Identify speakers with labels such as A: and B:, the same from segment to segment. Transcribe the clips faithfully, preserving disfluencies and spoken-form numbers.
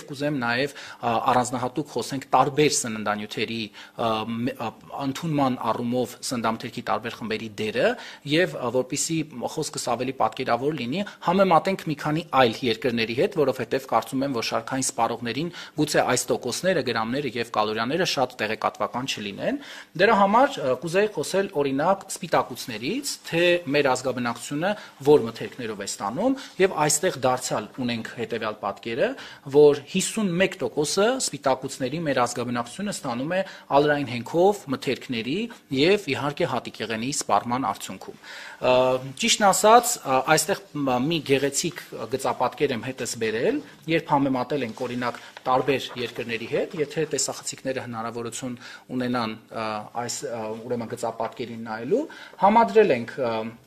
A: կուզեմ նաև առանձնահատուկ խոսենք տարբեր սննդանյութերի ընդունման առումով սննդամթերքի տարբեր խմբերի դերը եւ որպիսի խոսքս ավելի պատկերավոր լինի, համեմատենք մի քանի այլ երկրների հետ, որովհետեւ կարծում եմ, որ շարքային սպառողներին գուցե այս տոկոսները, գրամները եւ կալորիաները շատ տեղեկատվական չլինեն։ Դրա համար կուզեի խոսել օրինակ սպիտակուցներից, թե մեր ազգաբնակչությունը որ մթերքներով է ստանում եւ այստեղ դարձյալ ունենք հետեւյալ պատկերը, որ հիսունմեկ տոկոսը սպիտակուցների մեր ազգաբնակչությունը ստանում է ալրային հենքով, մթերքների եւ իհարկե հատիկեղենի սպառման արդյունքում։ Ճիշտն ասած, այստեղ մի գեղեցիկ գծապատկեր եմ հետս բերել, երբ համեմատել ենք օրինակ տարբեր երկրների հետ, եթե տեսախցիկները հնարավորություն ունենան այս ուրեմն գծապատկերին նայելու, համադրել ենք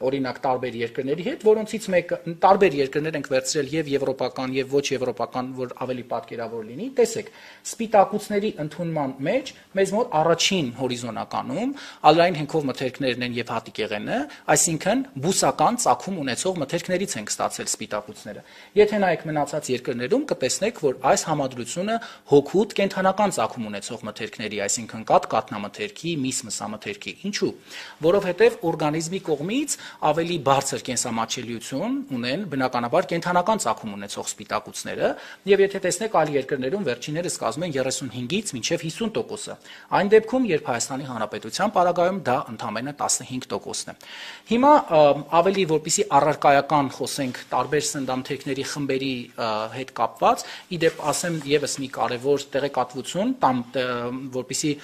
A: օրինակ տարբեր երկրների հետ, որոնցից մեկը տարբեր երկրներ ենք վերցրել եւ եվրոպական եւ ոչ եվրոպական, որ ավելի պատկերավոր լինի։ Տեսեք, սպիտակուցների ընդունման մեջ մեզ մոտ առաջին հորիզոնականում ալրային հենքով մթերքներն են եւ հատիկեղենը, այսինքն բուսական ծագում ունեցող մթերքներից ենք ստացել սպիտակուցները։ Եթե նայեք մնացած երկրներում կտեսնեք, որ այս համադրությունը հոգուտ կենթանական ծագում ունեցող մթերքների, այսինքն կաթ կաթնամթերքի, միս մսամթերքի։ Ինչու՞։ Որովհետեւ օրգանիզմի կողմից ավելի բարձր կենսամատչելիություն ունեն բնականաբար կենթանական ծագում ունեցող սպիտակուցները, եւ եթե տեսնեք այլ երկրներում վերջիններս կազմում են երեսունհինգից մինչեւ հիսուն տոկոսը։ Այն դեպքում, երբ Հայաստանի Հանրապետության պարագայում դա ընդամենը տասնհինգ տոկոսն է։ Հիմա ավելի որպիսի առարկայական խոսենք տարբեր սննդամթերքների խմբերի հետ կապված, իդեպ ասեմ եւս մի կարևոր տեղեկատվություն, տամ որպիսի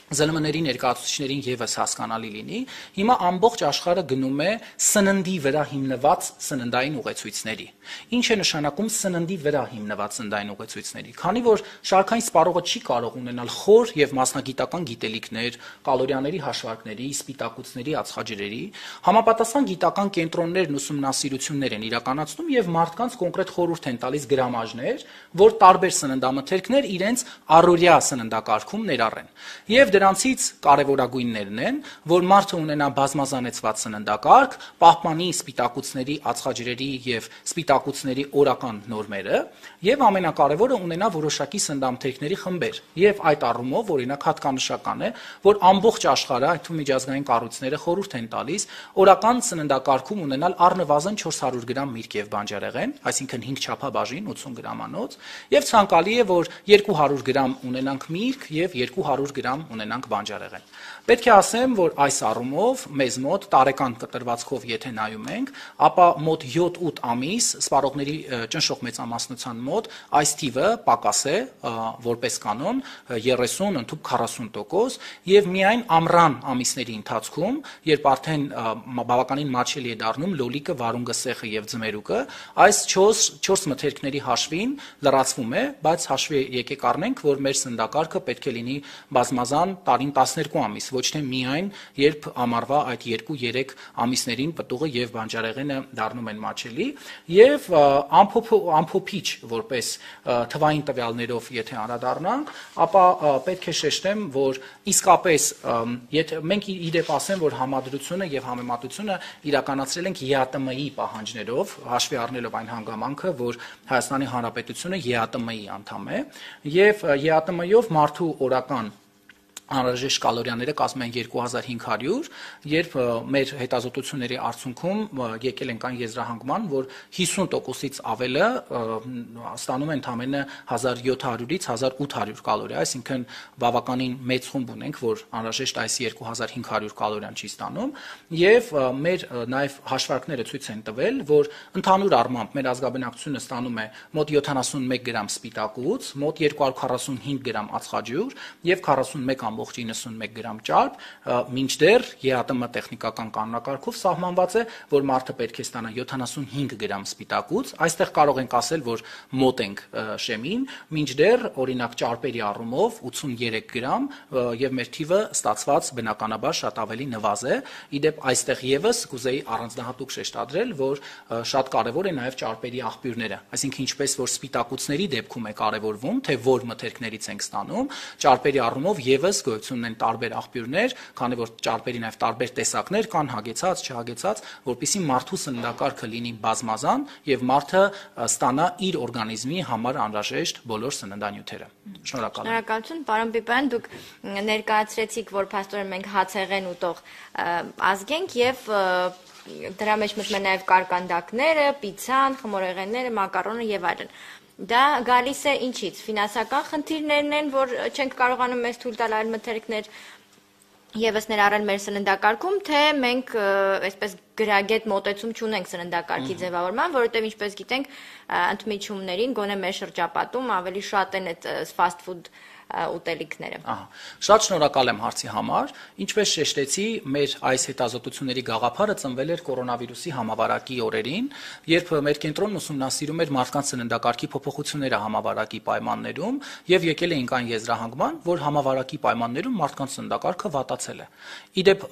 A: ԶԼՄ-ների ներկայացուցիչներին եւս հասկանալի լինի, հիմա ամբողջ աշխարհը գնում է սննդի վրա հիմնված սննդային ուղեցույցների։ Ինչ է նշանակում սննդի վրա հիմնված սննդային ուղեցույցների, քանի որ շարքային սպառողը չի կարող ունենալ խոր եւ մասնագիտական գիտելիքներ, կալորիաների հաշվարկների, սպիտակուցների, ածխաջրերի, համապատասխան գիտական կենտրոններն ուսումնասիրություններ են իրականացնում եւ մարդկանց կոնկրետ խորհուրդ են տալիս գրամաժներ, որ տարբեր սննդամթերքներ իրենց առօրյա սննդակարգում ներառեն։ Եվ դրանցից կարևորագույններն են, որ մարդը ունենա բազմազանեցված սննդակարգ, պահպանի սպիտակուցների, ածխաջրերի եւ սպիտակուցների օրական նորմերը, եւ ամենակարևորը ունենա որոշակի սննդամթերքների խմբեր։ Եվ այդ առումով օրինակ հատկանշական է, որ ամբողջ աշխարհը, այդ թվում միջազգային կառույցները խորհուրդ են տալիս օրական սննդակարգում ունենալ առնվազն չորս հարյուր գրամ միրգ եւ բանջարեղեն, այսինքն հինգ չափաբաժին ութսուն գրամանոց, եւ ցանկալի է, որ երկու հարյուր գրամ ունենանք միրգ եւ երկու հարյուր գրամ ունենանք բանջարեղեն։ Պետք է ասեմ, որ այս առումով մեզ մոտ տարեկան կտրվածքով եթե նայում ենք, ապա մոտ յոթ-ութ ամիս սպառողների ճնշող մեծամասնության մոտ այս թիվը պակաս է, որպես կանոն երեսուն, ընդհանուր քառասուն տոկոս, եւ միայն ամռան ամիսների ընթացքում, երբ արդեն բավականին մատչելի է դառնում լոլիկը, վարունգը, սեխը եւ ձմերուկը, այս չորս մթերքների հաշվին լրացվում է, բայց հաշվի եկեք առնենք, որ մեր սննդակարգը պետք է լինի բազմազան տարին տասներկու ամիս, ոչ թե միայն երբ ամառվա այդ երկու-երեք ամիսներին պտուղը եւ բանջարեղենը դառնում են մատչելի, եւ ամփոփիչ որպես թվային տվյալներով եթե անդրադառնանք, ապա պետք է շեշտեմ, որ իսկապես եթե մենք իդեպ ասեմ, որ համադրությունը եւ համեմատությունը իրականացրել ենք ԵԱՏՄ-ի պահանջներով, հաշվի առնելով այն հանգամանքը, որ Հայաստանի Հանրապետությունը ԵԱՏՄ-ի անդամ է, եւ ԵԱՏՄ-ով մարդու օրական անհրաժեշտ կալորիաները կազմում են երկու հազար հինգ հարյուր, երբ մեր հետազոտությունների արդյունքում եկել ենք այն եզրահանգման, որ հիսուն տոկոսից ավելը ստանում են ընդամենը հազար յոթ հարյուրից հազար ութ հարյուր կալորիա, այսինքն բավականին մեծ խումբ ունենք, որ անհրաժեշտ այս երկու հազար հինգ հարյուր կալորիան չի ստանում, եւ մեր նաեւ հաշվարկները ցույց են տվել, որ ընդհանուր առմամբ մեր ազգաբնակչությունը ստանում է մոտ յոթանասունմեկ գրամ սպիտակուց, մոտ երկու հարյուր քառասունհինգ գրամ ածխաջուր եւ քառասունմեկ ամբողջ իննսունմեկ գրամ ճարպ, մինչդեռ ԵԱՏՄ տեխնիկական կանոնակարգով սահմանված է, որ մարդը պետք է ստանա յոթանասունհինգ գրամ սպիտակուց, այստեղ կարող ենք ասել, որ մոտ ենք շեմին, մինչդեռ օրինակ ճարպերի առումով ութսուներեք գրամ եւ մեր թիվը ստացված բնականաբար շատ ավելի նվազ է։ Իդեպ այստեղ եւս կուզեի առանձնահատուկ շեշտադրել, որ շատ կարեւոր է նաեւ ճարպերի աղբյուրները, այսինքն ինչպես որ սպիտակուցների դեպքում է կարեւորվում, թե որ մթերքներից ենք ստանում, ճարպերի առումով եւս գոյություն ունեն տարբեր աղբյուրներ, քանի որ ճարպերի նաև տարբեր տեսակներ կան, հագեցած, չհագեցած, որպեսզի մարդու սննդակարգը լինի բազմազան եւ մարդը ստանա իր օրգանիզմի համար անհրաժեշտ բոլոր սննդանյութերը։ Շնորհակալ եմ։
B: Շնորհակալություն, պարոն Պիպյան, դուք ներկայացրեցիք, որ փաստորեն մենք հացեղեն ուտող ազգ ենք եւ դրա մեջ մտնում են նաև կարկանդակները, պիցան, խմորեղենները, մակարոնը եւ այլն։ Դա գալիս է ինչից։ Ֆինանսական խնդիրներն են, որ չենք կարողանում մեզ թույլ տալ այլ մթերքներ եւս ներառել մեր սննդակարգում, թե մենք այսպես գրագետ մոտեցում չունենք սննդակարգի ձևավորման, որովհետեւ ինչպես գիտենք, ընդմիջումներին գոնե մեր շրջապատում ավելի շատ են այդ fast food ուտելիքները։
A: Ահա, շատ շնորհակալ եմ հարցի համար։ Ինչպես շեշտեցի, մեր այս հետազոտությունների գաղափարը ծնվել էր կորոնավիրուսի համավարակի օրերին, երբ մեր կենտրոնն ուսումնասիրում էր մարդկանց սննդակարգի փոփոխությունները համավարակի պայմաններում եւ եկել էինք այն եզրահանգման, որ համավարակի պայմաններում մարդկանց սննդակարգը վատացել է։ Իդեպ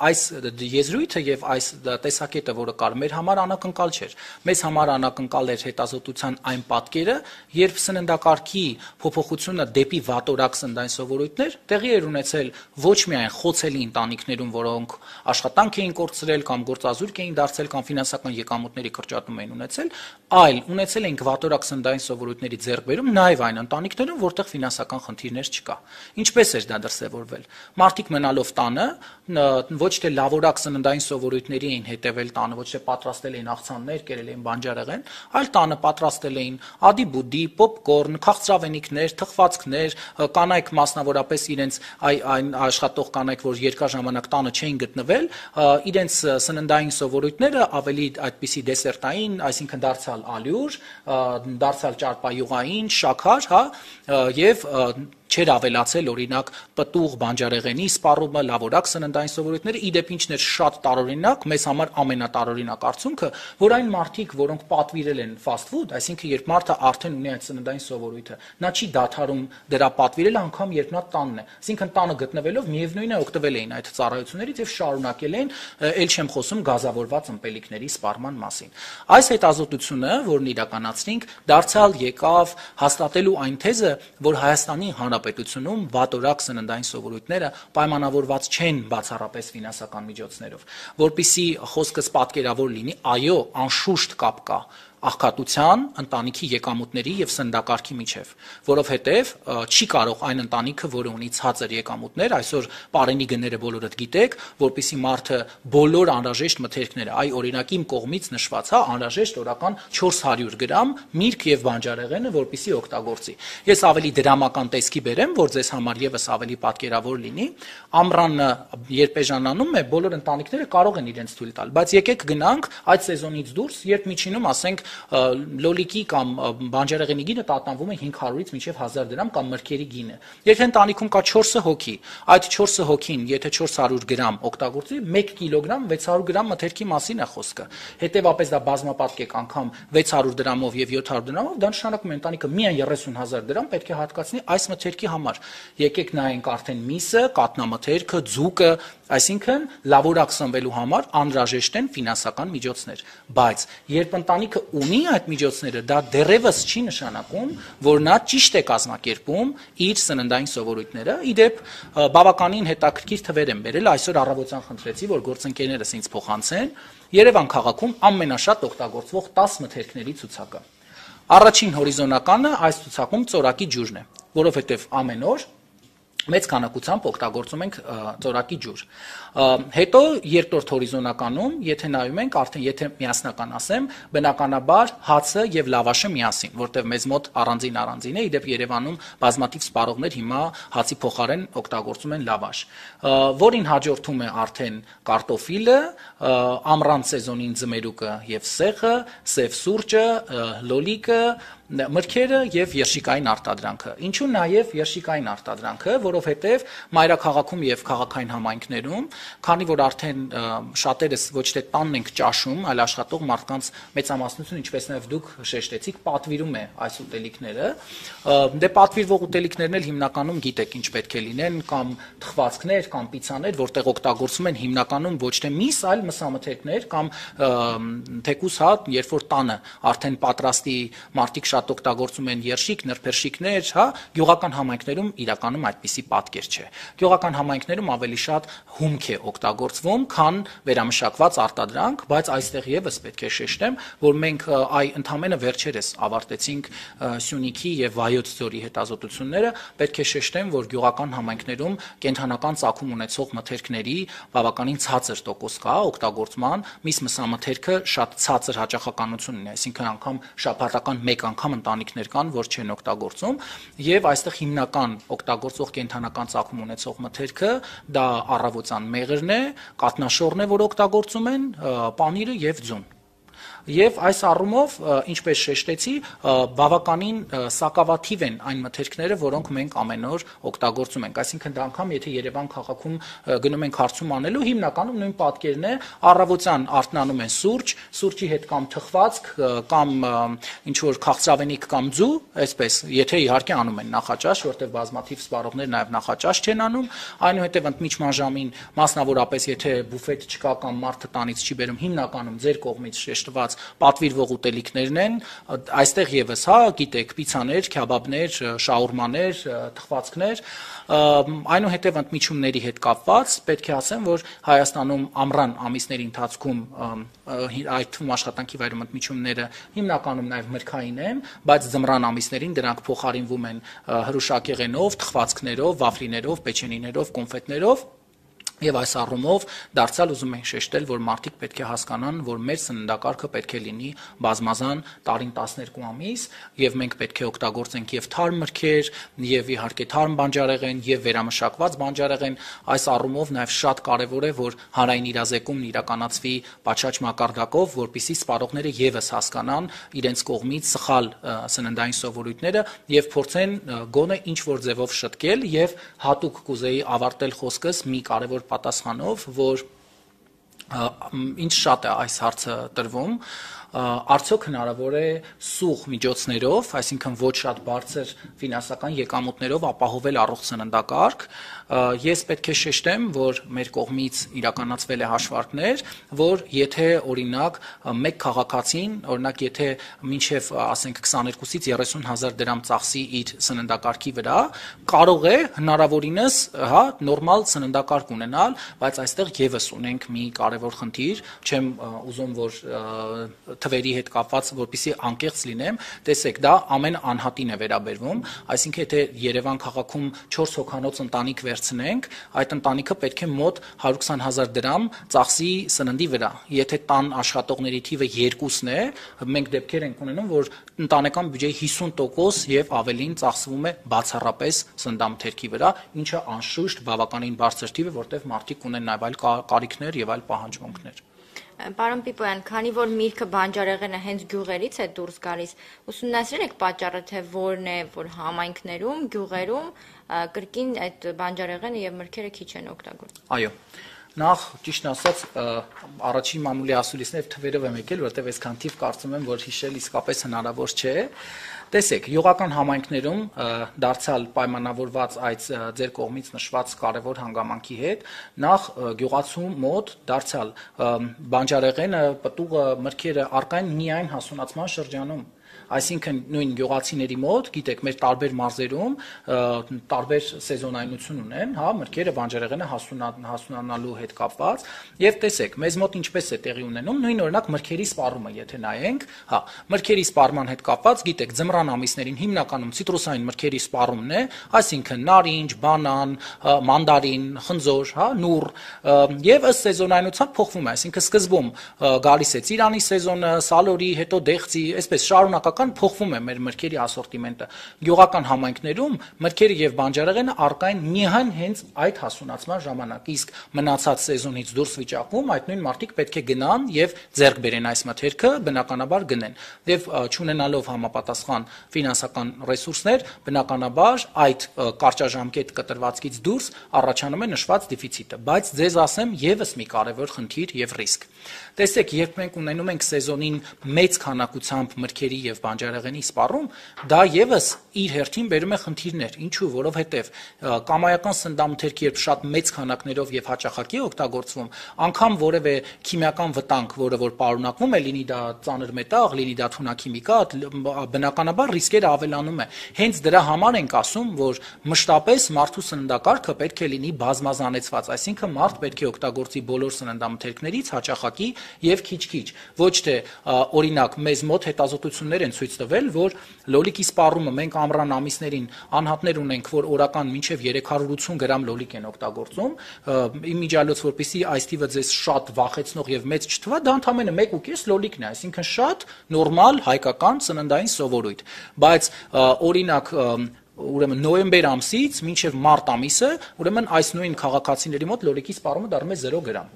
A: այս եզրույթը եւ այս տեսակետը, որը կար, մեր համար անակնկալ չէր։ Մեզ համար անակնկալ էր հետազոտության այն պատկերը, երբ սննդակարգի փոփոխությունը դեպի վատորակ սննդային սովորույթներ տեղի էր ունեցել ոչ միայն խոցելի ընտանիքներում, որոնք աշխատանք էին կորցրել կամ գործազուրկ էին դարձել կամ ֆինանսական եկամուտների կրճատում էին ունեցել, այլ ունեցել են վատորակ սննդային սովորույթների ձեռքբերում նաև այն ընտանիքներում, որտեղ ֆինանսական խնդիրներ չկա։ Ինչպես էր դա դրսևորվել։ Մարդիկ մնալով տանը ոչ թե լավորակ սննդային սովորույթների էին հետևել տանը, ոչ թե պատրաստել էին աղցաններ, կերել էին բանջարեղեն, այլ տանը պատրաստել էին ադի-բուդի, պոպկորն, քաղցրավենիքներ, թխվածքներ, կանայք մասնավորապես իրենց այն աշխատող կանայք, որ երկար ժամանակ տանը չէին գտնվել, իրենց սննդային սովորույթները ավելի այդպիսի դեսերտային, այսինքն դարձյալ ալյուր, դարձյալ ճարպայուղային, շաքար, հա, եւ չէր ավելացել օրինակ պտուղ բանջարեղենի սպառումը, լավորակ սննդային սովորույթները, իդեպ ինչն էր շատ տարօրինակ, մեզ համար ամենատարօրինակ արդյունքը, որ այն մարդիկ, որոնք պատվիրել են fast food, այսինքն երբ մարդը արդեն ունի այդ սննդային սովորույթը, նա չի դադարում դրա պատվիրել անգամ երբ նա տանն է, այսինքն տանը գտնվելով միևնույն է օգտվել էին այդ ծառայություններից եւ շարունակել են, ել չեմ խոսում գազավորված ըմպելիքների սպառման մասին։ Այս հետազոտությունը, որն իրականացրինք, դարձյալ եկավ հաստատելու այն թեզը, որ Հայաստանի Հանրապետությունում վատորակ սննդային սովորույթները պայմանավորված չեն բացառապես ֆինանսական միջոցներով, որpիսի խոսքս պատկերավոր լինի, այո, անշուշտ կապ կա աղքատության, ընտանիքի եկամուտների եւ սննդակարգի միջև, որովհետեւ չի կարող այն ընտանիքը, որը ունի ցածր եկամուտներ, այսօր պարենի գները բոլորդ գիտեք, որpիսի մարդը բոլոր անհրաժեշտ մթերքները, այ օրինակ իմ կողմից նշված, հա, անհրաժեշտ օրական չորս հարյուր գրամ միրգ եւ բանջարեղենը, որպիսի օգտագործի։ Ես ավելի դրամական տեսքի բերեմ, որ ձեզ համար եւս ավելի պատկերավոր լինի, ամռանը երբ էժանանում է, բոլոր ընտանիքները կարող են իրենց թույլ տալ, բայց եկեք գնանք այդ սեզոնից դուրս, երբ միջինում ասենք լոլիկի կամ բանջարեղենի գինը տատանվում է հինգ հարյուրից մինչև հազար դրամ կամ մրգերի գինը։ Եթե ընտանիքում կա չորս հոգի, այդ չորս հոգին, եթե չորս հարյուր գրամ օգտագործի, մեկ կիլոգրամ վեց հարյուր գրամ մթերքի մասին է խոսքը։ Հետևաբար դա բազմապատկեք անգամ վեց հարյուր դրամով եւ յոթ հարյուր դրամով, դա նշանակում է ընտանիքը միայն երեսուն հազար դրամ պետք է հատկացնի այս մթերքի համար։ Եկեք նայենք արդեն միսը, կատնամթերքը, ձուկը, այսինքն լավորակ սնվելու համար անհրաժեշտ են ֆինանսական միջոցներ, բայց երբ ընտանիքը ունի այդ միջոցները, դա դեռևս չի նշանակում, որ նա ճիշտ է կազմակերպում իր սննդային սովորույթները։ Իդեպ բավականին հետաքրքիր թվեր եմ բերել, այսօր առավոտյան խնդրեցի, որ գործընկերներս ինձ փոխանցեն Երևան քաղաքում ամենաշատ օգտագործվող տաս մթերքների ցուցակը։ Առաջին հորիզոնականը այս ցուցակում ծորակի ջուրն է, որովհետև ամեն օր մեծ քանակությամբ օգտագործում ենք ծորակի ջուր։ Հետո երկրորդ հորիզոնականում, եթե նայում ենք, արդեն եթե միասնական ասեմ, բնականաբար հացը եւ լավաշը միասին, որտեղ մեզ մոտ առանձին առանձին է, իդեպ Երևանում բազմաթիվ սպառողներ հիմա հացի փոխարեն օգտագործում են լավաշ, որին հաջորդում է արդեն կարտոֆիլը, ամռան սեզոնին ձմերուկը եւ սեղը, սև սուրճը, լոլիկը, մրգերը եւ երշիկային արտադրանքը։ Ինչու նաեւ երշիկային արտադրանքը, որովհետեւ մայրաքաղաքում եւ քաղաքային համայնքներում, քանի որ արդեն շատերս ոչ թե տանն ենք ճաշում, այլ աշխատող մարդկանց մեծամասնություն, ինչպես նաեւ դուք շեշտեցիք, պատվիրում է այս ուտելիքները, դե պատվիրվող ուտելիքներն էլ հիմնականում գիտեք ինչ պետք է լինեն, կամ թխվածքներ, կամ պիցաներ, որտեղ օգտագործում են հիմնականում ոչ թե միս, այլ մսամթերքներ կամ թեկուս հա, երբ որ տանը արդեն պատրաստի մարդիկ շատ շատ օգտագործում են երշիկ, նրբերշիկներ, հա, գյուղական համայնքներում իրականում այդպիսի պատկեր չէ։ Գյուղական համայնքներում ավելի շատ հումք է օգտագործվում, քան վերամշակված արտադրանք, բայց այստեղ եւս պետք է շեշտեմ, որ մենք այ ընդամենը վերջերս ավարտեցինք Սյունիքի եւ Վայոց ձորի հետազոտությունները, պետք է շեշտեմ, որ գյուղական համայնքներում կենդանական ծագում ունեցող մթերքների բավականին ցածր տոկոս կա օգտագործման, միս մսամթերքը շատ ցածր հաճախականություն ունի, այսինքն անգամ շաբաթական մեկ անգամ ընտանիքներ կան, որ չեն օգտագործում, եւ այստեղ հիմնական օգտագործող կենդանական ծագում ունեցող մթերքը դա առավոտյան մեղրն է, կատնաշորն է, որ օգտագործում են, պանիրը եւ ձուն։ Եվ այս առումով, ինչպես շեշտեցի, բավականին սակավաթիվ են այն մթերքները, որոնք մենք ամեն օր օգտագործում ենք։ Այսինքն դա անգամ, եթե Երևան քաղաքում գնում ենք հարցում անելու, հիմնականում նույն պատկերն է, առավոտյան արթնանում են սուրճ, սուրճի հետ կամ թխվածք, կամ ինչ որ քաղցրավենիք կամ ձու, այսպես, եթե իհարկե անում են նախաճաշ, որտեղ բազմաթիվ սպառողներ նաև նախաճաշ չեն անում, այնուհետև ընդմիջման ժամին, մասնավորապես եթե բուֆետ չկա կամ մարդը տանից չի բերում, հիմնականում ձեր կողմից շեշտված պատվիրվող ուտելիքներն են, այստեղ եւս, հա, գիտեք, պիցաներ, քյաբաբներ, շաուրմաներ, թխվածքներ, այնուհետև ընդմիջումների հետ կապված պետք է ասեմ, որ Հայաստանում ամռան ամիսների ընթացքում այդ թվում աշխատանքի վայրում ընդմիջումները հիմնականում նաև մրգային են, բայց ձմռան ամիսներին դրանք փոխարինվում են հրուշակեղենով, թխվածքներով, վաֆլիներով, պեչենիներով, կոնֆետներով։ Եվ այս առումով դարձյալ ուզում ենք շեշտել, որ մարդիկ պետք է հասկանան, որ մեր սննդակարգը պետք է լինի բազմազան տարին տասներկու ամիս, եւ մենք պետք է օգտագործենք եւ թարմ մրգեր, եւ իհարկե թարմ բանջարեղեն, եւ վերամշակված բանջարեղեն։ Այս առումով նաեւ շատ կարեւոր է, որ հանրային իրազեկումն իրականացվի պատշաճ մակարդակով, որպիսի սպառողները եւս հասկանան իրենց կողմից սխալ սննդային սովորույթները եւ փորձեն գոնե ինչ որ ձևով շտկել եւ հատուկ կուզեի ավարտել խոսքս մի կարեւոր պատասխանով, որ ինչ շատ է այս հարցը տրվում, արդյոք հնարավոր է սուղ միջոցներով, այսինքն ոչ շատ բարձր ֆինանսական եկամուտներով ապահովել առողջ սննդակարգ։ Ես պետք է շեշտեմ, որ մեր կողմից իրականացվել է հաշվարկներ, որ եթե օրինակ մեկ քաղաքացին, օրինակ եթե մինչև ասենք քսաներկուսից երեսուն հազար դրամ ծախսի իր սննդակարգի վրա, կարող է հնարավորինս, հա, նորմալ սննդակարգ ունենալ, բայց այստեղ եւս ունենք մի կարևոր խնդիր, չեմ ուզում որ թվերի հետ կապված, որպեսզի անկեղծ լինեմ, տեսեք, դա ամեն անհատին է վերաբերվում, այսինքն եթե Երևան քաղաքում չորս հոգանոց ընտանիք վերցնենք, այդ ընտանիքը պետք է մոտ հարյուր քսան հազար դրամ ծախսի սննդի վրա։ Եթե տան աշխատողների թիվը երկուսն է, մենք դեպքեր ենք ունենում, որ ընտանեկան բյուջեի հիսուն տոկոս եւ ավելին ծախսվում է բացառապես սննդամթերքի վրա, ինչը անշուշտ բավականին բարձր թիվ է, որտեղ մարդիկ ունեն նաեւ այլ կարիքներ եւ այլ պահանջմունքներ։
B: Պարոն Պիպոյան, քանի որ միրգը բանջարեղենը հենց գյուղերից է դուրս գալիս, ուսումնասիրել եք պատճառը, թե որն է, որ համայնքներում, գյուղերում կրկին այդ բանջարեղենը եւ մրգերը քիչ են օգտագործվում։
A: Այո։ Նախ ճիշտ ասած առաջին մամուլի ասուլիսներ թվերով եմ եկել, որտեղ այսքան թիվ կարծում եմ, որ հիշել իսկապես հնարավոր չէ։ Տեսեք, յուղական համայնքներում դարձյալ պայմանավորված այդ ձեր կողմից նշված կարևոր հանգամանքի հետ, նախ գյուղացու մոտ դարձյալ բանջարեղենը, պտուղը, մրգերը առկա են միայն հասունացման շրջանում։ Այսինքն նույն գյուղացիների մոտ, գիտեք, մեր տարբեր մարզերում տարբեր սեզոնայնություն ունեն, հա, մրգերը, բանջարեղենը հասունանալու հետ կապված, եւ տեսեք, մեզ մոտ ինչպես է տեղի ունենում, նույն օրինակ մրգերի սպառումը, եթե նայենք, հա, մրգերի սպառման հետ կապված, գիտեք, ձմռան ամիսներին հիմնականում ցիտրուսային մրգերի սպառումն է, այսինքն նարինջ, բանան, մանդարին, խնձոր, հա, նուռ, եւ ըստ սեզոնայնության փոխվում է, այսինքն սկզբում գալիս է ծիրանի սեզոնը, սալորի, հետո դեղցի, այսպես շարունակական փոխվում է մեր մրգերի ասորտիմենտը։ Գյուղական համայնքներում մրգերը եւ բանջարեղենը առկա են միայն հենց այդ հասունացման ժամանակ, իսկ մնացած սեզոնից դուրս վիճակում այդ նույն մարդիկ պետք է գնան եւ ձեռք բերեն այս մթերքը, բնականաբար գնեն։ Եվ չունենալով համապատասխան ֆինանսական ռեսուրսներ, բնականաբար այդ կարճաժամկետ կտրվածքից դուրս առաջանում է նշված դեֆիցիտը։ Բայց ձեզ ասեմ եւս մի կարևոր խնդիր եւ ռիսկ։ Տեսեք, երբ մենք ունենում ենք սեզոնին մեծ քանակությամբ մրգերի եւ բանջարեղենի սպառում, դա եւս իր հերթին բերում է խնդիրներ, ինչու, որովհետև կամայական սննդամթերքի երբ շատ մեծ քանակներով եւ հաճախակի օգտագործվում, անգամ որևէ քիմիական վտանգ, որը որ պարունակվում է, լինի դա ծանր մետաղ, լինի դա թունաքիմիկատ, բնականաբար ռիսկերը ավելանում է։ Հենց դրա համար ենք ասում, որ մշտապես մարդու սննդակարգը պետք է լինի բազմազանեցված, այսինքն մարդ պետք է օգտագործի բոլոր սննդամթերքներից հաճախակի եւ քիչ-քիչ, ոչ թե օրինակ մեզ մոտ հետազոտություններ են ցույց տվել, որ լոլիկի սպառումը մենք ամռան ամիսներին անհատներ ունենք, որ օրական մինչև երեք հարյուր ութսուն գրամ լոլիկ են օգտագործում, իմիջիալոց որպեսզի այս թիվը ձեզ շատ վախեցնող եւ մեծ չթվա, դա ընդամենը մեկ ու կես լոլիկն է, այսինքն շատ նորմալ հայկական սննդային սովորույթ, բայց օրինակ ուրեմն նոյեմբեր ամսից մինչև մարտ ամիսը, ուրեմն այս նույն քաղաքացիների մոտ լոլիկի սպառումը դառնում է զերո գրամ։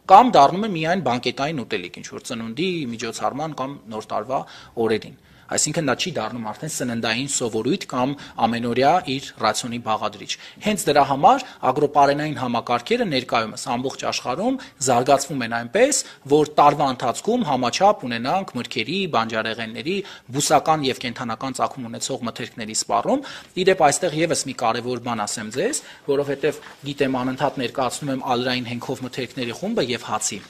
A: Կամ դառնում է միայն բանկետային ուտելիք, ինչ որ ծնունդի, միջոցառման կամ նոր տարվա օրերին։ Այսինքն դա չի դառնում արդեն սննդային սովորույթ կամ ամենօրյա իր ռացիոնի բաղադրիչ։ Հենց դրա համար ագրոպարենային համակարգերը ներկայումս ամբողջ աշխարհում զարգացվում են այնպես, որ տարվա ընթացքում համաչափ ունենանք մրգերի, բանջարեղենների, բուսական եւ կենդանական ծագում ունեցող մթերքների սպառում։ Իդեպ այստեղ եւս մի կարեւոր բան ասեմ ձեզ, որովհետեւ գիտեմ անընդհատ ներկայացնում եմ ալրային հենքով մթերքների խումբը եւ հացի։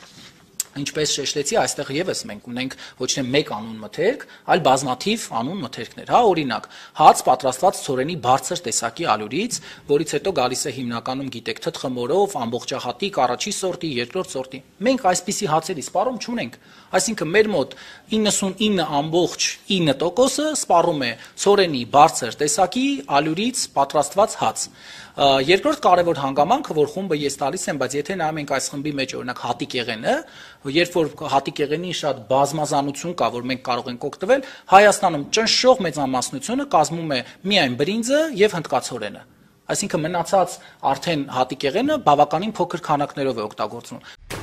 A: Ինչպես շեշտեցի, այստեղ եւս մենք ունենք ոչ թե մեկ անուն մթերք, այլ բազմաթիվ անուն մթերքներ, հա, օրինակ, հաց պատրաստված ցորենի բարձր տեսակի ալյուրից, որից հետո գալիս է հիմնականում գիտեք թթխմորով, ամբողջահատիկ, առաջի սորտի, երկրորդ սորտի։ Մենք այսպիսի հացերի սպառում չունենք, այսինքն մեր մոտ իննսունինը ամբողջ ինը տոկոսը սպառում է ցորենի բարձր տեսակի ալյուրից պատրաստված հաց։ Երկրորդ կարևոր հանգամանքը, որ խումբը ես տալիս եմ, բայց եթե նայում ենք այս խմբի մեջ օրինակ հատիկեղենը, երբ որ հատիկեղենի շատ բազմազանություն կա, որ մենք կարող ենք օգտվել, Հայաստանում ճնշող մեծամասնությունը կազմում է միայն բրինձը եւ հնդկացորենը։ Այսինքն մնացած արդեն հատիկեղենը բավականին փոքր քանակներով է օգտագործվում։